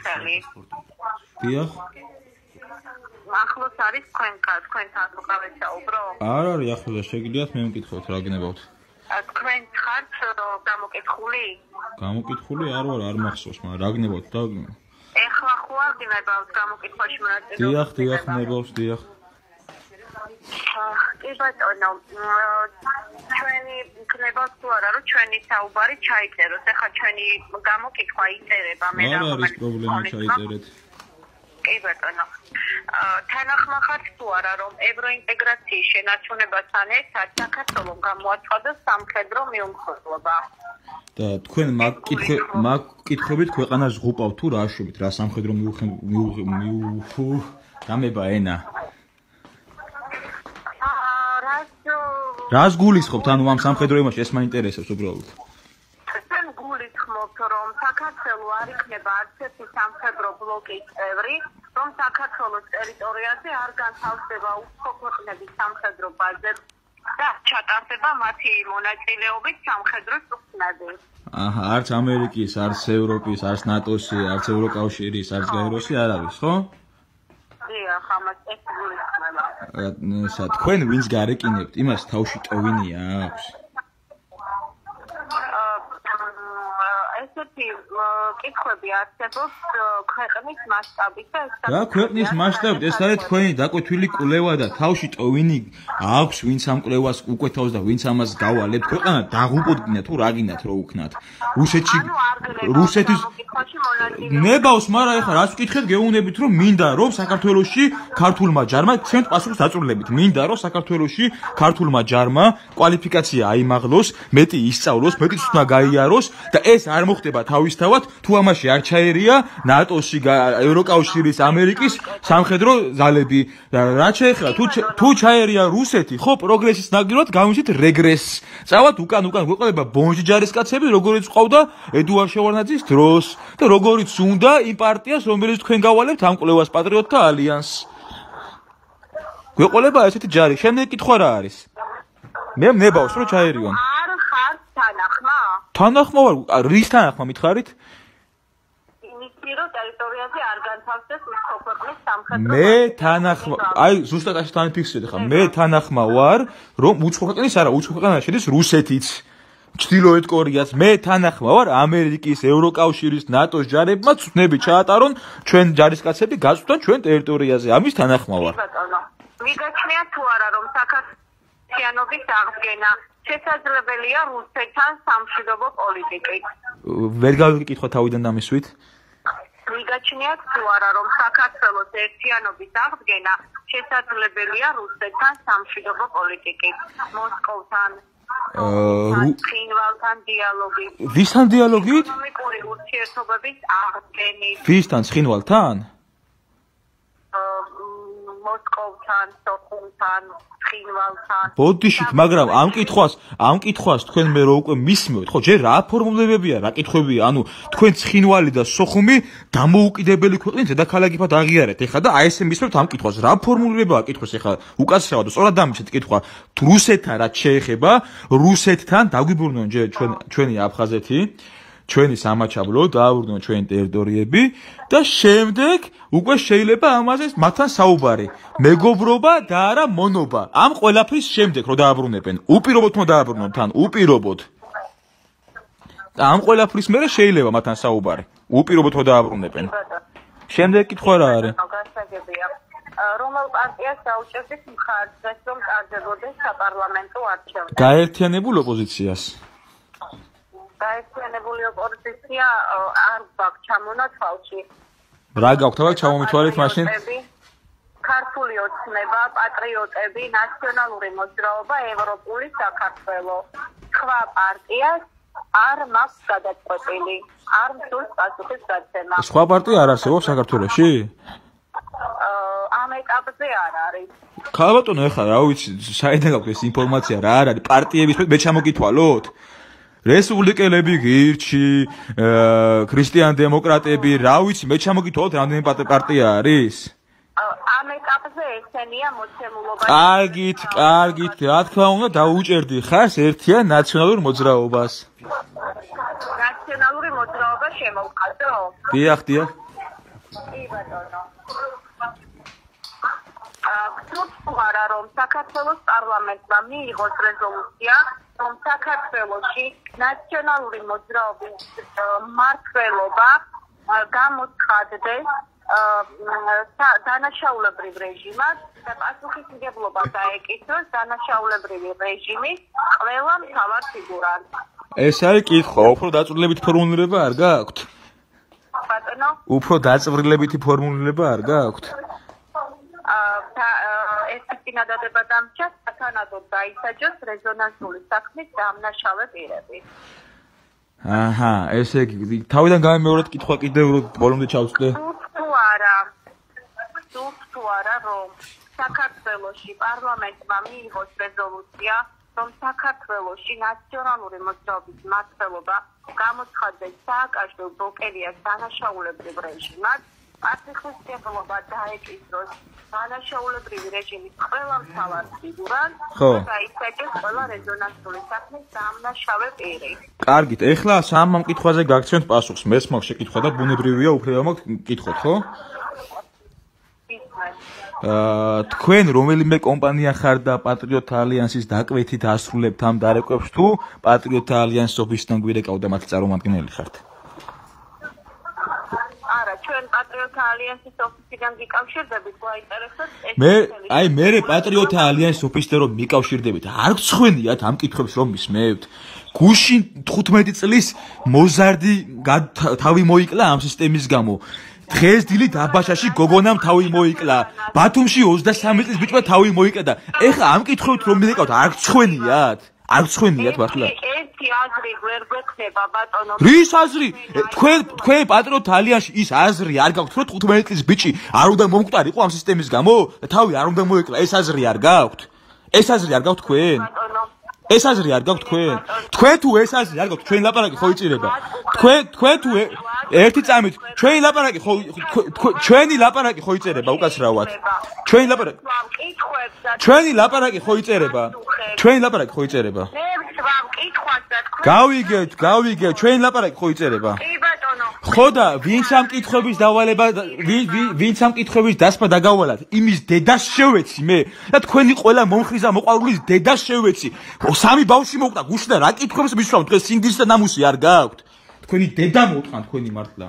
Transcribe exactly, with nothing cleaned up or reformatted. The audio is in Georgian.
ხელი. დიახ. ახლოს არის თქვენთან, თქვენთან უკავე საუბრო? არ არის ახლოს, შეგიძლიათ მე მკითხოთ რა გნებავთ. თქვენ ხართ გამოკითხული? გამოკითხული არ ვარ, არ მახსოვს, მაგრამ რა გნებავთ და ეხლა ხო არ გნებავთ გამოკითხვაში მონაწილეობა? დიახ, დიახ, ნებავს, დიახ. კი ბატონო, ჩვენი გნებავთ თუ არა, რომ ჩვენი საუბარი ჩაიწეროს. ეხლა ჩვენი გამოკითხვა იწერება, მე რა არის პრობლემა ჩაიწერეთ? კი ბატონო. თანახმახართ თუ არა, რომ ევროინტეგრაციის შენარჩუნებასთან ერთად საქართველოს გამოაცხადოს სამხედრო მიუმხრობა? და თქვენ მაგ კითხე მაგ კითხვებით ქვეყანას ზღუპავთ თუ რა აშვებით, რა სამხედრო მიუ გამება ენა? რას გულისხმობთ, ანუ ამ სამხედრო იმაში ეს მაინტერესებს უბრალოდ. ჩვენ გულისხმობთ, რომ საქართველოს არ იქნება არც ერთი სამხედრო ბლოკის წევრი, რომ საქართველოს ტერიტორიაზე არ განთავსდება უცხო ქვეყნების სამხედრო ბაზები და ჩატარდება მათი მონაწილეობით სამხედრო წვრთნები. აჰა, არც ამერიკის, არც ევროპის, არც ნატოსი, არც ევროკავშირის, არც გაეროსი არ არის, ხო? დიახ, ამას ეს გულისხმება. ესა თქვენ ვინც გარეკინებთ, იმას თავში ტოვინია აქვს. ესეთი კითხვები არსებობს ქვეყნის მასშტაბით და ეს რა ქვეყნის მასშტაბით? ეს არის თქვენი დაკვეთილი კვლევა და თავში ტოვინი აქვს ვინც ამ კვლევას უკვეთავს და ვინც ამას გავალებთ. ქვეყანა დაღუპოდგინა თუ რა გინდათ რო უქნათ. რუსეთში რუსეთის ნებავს, მაგრამ ეხლა რას ვკითხეთ გეუბნებით რომ მინდა რომ საქართველოში ქართულმა ჯარმა ჩვენთ პასუხს აწურლებით. მინდა რომ საქართველოში ქართულმა ჯარმა კვალიფიკაცია აიმაღლოს, მეტი ისწავლოს, მეტი ცოდნა გაიაროს და ეს არ მოხდება თავისთავად თუ ამაში არ ჩაერია ნატოსი, ევროკავშირის, ამერიკის სამხედრო ზალები. რაც შეეხება თუ თუ ჩაერია რუსეთი, ხო პროგრესის ნაგიროთ გამიშით რეგრესს. წავად უკან უკან გვეყოლება ბონჟი ჯარისკაცები, როგორიც ყავდა ედუარ შევარდნაძის დროს და როგორიც უნდა იმ პარტიას, რომელიც თქვენ გავალებთ ამ კვლევას პატრიოტთა ალიანსს. გვეყოლება ესეთი ჯარი. შემდეგ კითხვა რა არის? მე მნებავს რომ ჩაერიონ. არ ხართ თანახმა? თანახმა ვარ, რის თანახმა მითხარით? იმისი რომ ტერიტორიაზე არ განთავსდეს უცხო ქვეყნის სამხედრო. მე თანახმა, აი ზუსტად ასე თან ფიქსირდი ხა, მე თანახმა ვარ, რომ უცხო ქვეყნის არა, უცხო ქვეყანაში შედის რუსეთიც. ჩრდილოეთ კორეაც, მე თანახმა ვარ ამერიკის, ევროკავშირის, ნატოს ჯარებმა ცნები ჩაატარონ ჩვენ ჯარისკაცები გაწვდან ჩვენ ტერიტორიაზე. ამის თანახმა ვარ. მიგაჩნიათ თუ არა რომ საქართველოს აღდგენა შესაძლებელია რუსეთთან სამშვიდობო პოლიტიკით? ვერ გავიკითხვა თავიდან დამისვით. მიგაჩნიათ თუ არა რომ საქართველოს ერთიანობის აღდგენა შესაძლებელია რუსეთთან სამშვიდობო პოლიტიკით? მოსკოვთან ცხინვალთან დიალოგით. ვისთან დიალოგით? ეკონომიკური ურთიერთობების აღდგენით. ვისთან ცხინვალთან? მოსკოვთან, სოხუმთან, ცხინვალთან. ბოდიშით, მაგრამ ამ კითხვას, ამ კითხვას თქვენ მე რო უკვე მისმევთ, ხო, ჯერ რა ფორმულებებია, რა კითხვებია, ანუ თქვენ ცხინვალი და სოხუმი დამოუკიდებელი ქვეყნის დედაქალაქებად აღიარეთ. ეხლა და აი ესე მისმევთ ამ კითხვას. რა ფორმულებაა კითხვის ეხლა უკაცრავად, სწორად დამიჩეთ კითხვა. რუსეთთან რაც შეეხება, რუსეთთან დაგვიბრუნონ ჯერ ჩვენ ჩვენი აფხაზეთი. ჩვენი სამაჩაბლო დააბრუნონ ჩვენი ტერიტორიები და შემდეგ უკვე შეიძლება ამაზე მათთან საუბარი. მეგობრობა და არა მონობა. ამ ყველაფრის შემდეგ რო დააბრუნებენ, უპირობოდ უნდა დააბრუნონ თან, უპირობოდ. და ამ ყველაფრის მერე შეიძლება მათთან საუბარი. უპირობოდ რო დააბრუნებენ. შემდეგ კითხვა რა არის? რომელ პარტიას დაუჭერდით მხარს, რომ წარდებოდეს საპარლამენტო არჩევნები? გაერთიანებულ ოპოზიციას. გაერთიანებული ოპოზიცია არ გვაქვს ჩამონა თვალში. რა გაქვთ ახლა ჩამომითვალეთ მაშინ? ქართული ოცნება, პატრიოტები, ნაციონალური მოძრაობა, ევროპული საქართველო. სხვა პარტიას არ მაქვს გადაწყვეტილი. არ მსურს პასუხის გაცემა. სხვა პარტია არ არსებობს საქართველოში? ამ ეტაპზე არ არის. ხა ბატონო, ეხლა რა ვიცი, საერთოდ გაქვთ ეს ინფორმაცია რა არის პარტიების მე ჩამოგითვალოთ? რესპუბლიკელები, გირჩი, ქრისტიან დემოკრატები, რა ვიცი, მე ჩამოგითვალოთ რამდენი პარტია არის? ამ ეტაპზე ესენია მოცემულობა. კარგით, კარგით, რა თქმა უნდა, დაუჭერდი ხარს ერთიან ნაციონალურ მოძრაობას. ნაციონალური მოძრაობა შემოვყადო? დიახ, დიახ. კი ბატონო. აა რომ საქართველოს პარლამენტმა მიიღოს რეზოლუცია, რომ საქართველოში ნაციონალური მოძრაობის მმართველობა გამოცხადდეს დანაშაულებრივ რეჟიმად და პასუხისმგებლობა დაეკისროს დანაშაულებრივი რეჟიმის ყველა მთავარ ფიგურას. ეს არის კითხვა, უფრო დაწვრილებითი ფორმულირება არ გააქვთ? ბატონო? უფრო დაწვრილებითი ფორმულირება არ გააქვთ? ეს წინადადება დამჭა სათანადოდ დაისაჯოს რეზონანსული საქმის დამნაშავე პირები. აჰა, ესე იგი, თავიდან გამემეორეთ კითხვა კიდევ ბოლომდე ჩავწვდე. თუ არა, თუ არა რომ საქართველოში პარლამენტმა მიიღოს რეზოლუცია, რომ საქართველოში ნაციონალური მოძრაობის მმართველობა გამოცხადდეს სააკაშვილ ბოკელიას დანაშაულებრივ რეჟიმად, პასუხისმგებლობა დაეკისროს დანაშაულებრივი რეჟიმის ყველა მთავარ ფიგურას და დაისაჯოს ყველა რეზონანსული საქმის დამნაშავე პირი. კარგით, ეხლა სამ კითხვაზე გაგცემთ პასუხს. მეც მაქვს შეკითხვა და ბუნებრივია, უფლება მაქვს კითხოთ, ხო? აა, თქვენ რომელიმე კომპანია ხარ და პატრიოტ ალიანსის დაკვეთით ასრულებთ ამ დარკვევებს თუ პატრიოტ ალიანსის ოფისიდან გვირეკავდა მათი წარმომადგენელი ხართ? ჩვენ პატრიოტ ალიანსის ოფისიდან გიკავშირდებით, გვაინტერესებს ეს. მე, აი, მე პატრიოტ ალიანსის ოფისთან რომ მიკავშირდებით, არ გცხვენიათ ამ კითხვებს რომ მისმევთ. გუშინ თხუთმეტი წლის მოზარდი თავი მოიკლა ამ სისტემის გამო. დღეს დილით აბაშაში გოგონამ თავი მოიკლა. ბათუმში ოცდასამი წლის ბიჭმა თავი მოიკლა და ეხლა ამ კითხვებით რომ მივეკავთ, არ გცხვენიათ? არ გცხვენიათ მართლა? ერთი აზრი ვერ გვექნება ბატონო. რის აზრი? თქვენ თქვენ პატრიოტ ალიანსში ის აზრი არ გაქვთ, რომ თხუთმეტი წლის ბიჭი არ უნდა მომკვდარიყო ამ სისტემის გამო? და თავი არ უნდა მოეკლა, ეს აზრი არ გაქვთ? ეს აზრი არ გაქვთ თქვენ? ეს აზრი არ გაქვთ თქვენ? თქვენ თუ ეს აზრი არ გაქვთ, ჩვენი ლაპარაკი ხო იწირება? თქვენ თქვენ თუ ერთი წამით ჩვენი ლაპარაკი ხო ჩვენი ლაპარაკი ხო იწერება უკაცრავად? ჩვენი ლაპარაკი ჩვენი ლაპარაკი ხო იწერება? ჩვენი ლაპარაკი ხო იწერება? მე ვსვამ კითხვას და თქვენ გავიგეთ, გავიგეთ, ჩვენი ლაპარაკი ხო იწერება? კი ბატონო. ხო და ვინც ამ კითხვების დავალება ვინც ამ კითხვების დასმა დაგავალათ, იმის დედას შევეცი მე და თქვენი ყველა მომხრიზა მოყვარულის დედას შევეცი. სამი ბავშვი მოკვდა, გუშინ და რა კითხვებს მისვამ, დღეს სინდისს და ნამუსი არ გაქვთ? თქვენი დედა მოუტყან თქვენი მართლა.